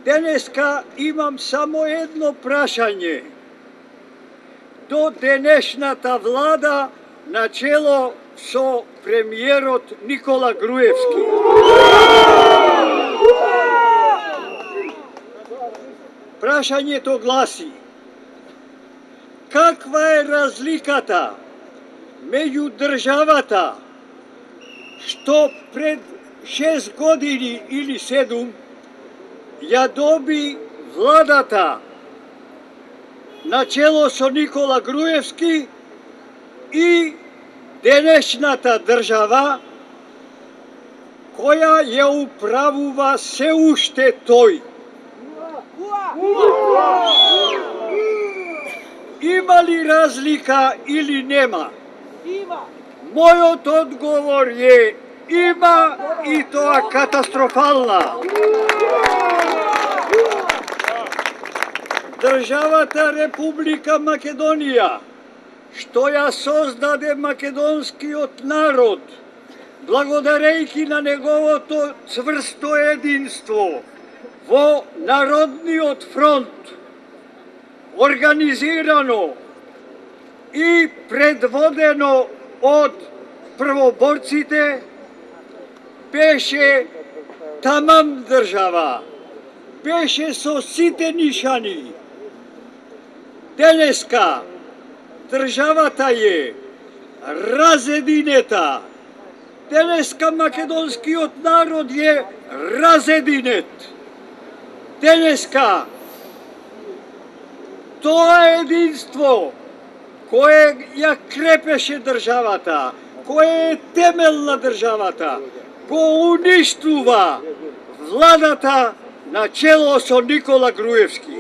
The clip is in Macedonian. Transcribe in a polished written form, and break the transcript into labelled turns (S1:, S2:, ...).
S1: Денеска имам само едно прашање. До денешната влада на чело со премиерот Никола Груевски. Прашањето гласи: каква е разликата меѓу државата што пред 6 години или 7 ја доби владата начело со Никола Груевски и денешната држава која ја управува се уште тој? Има ли разлика или нема? Мојот одговор е има, и тоа катастрофална. Државата Република Македонија, што ја создаде македонскиот народ, благодарејќи на неговото цврсто единство во Народниот фронт, организирано и предводено од првоборците, беше тамам држава, беше со сите нишани. Денеска државата е разединета. Денеска македонскиот народ е разединет. Денеска тоа единство кое ја крепеше државата, кое е темел на државата, го уништува владата на чело со Никола Груевски.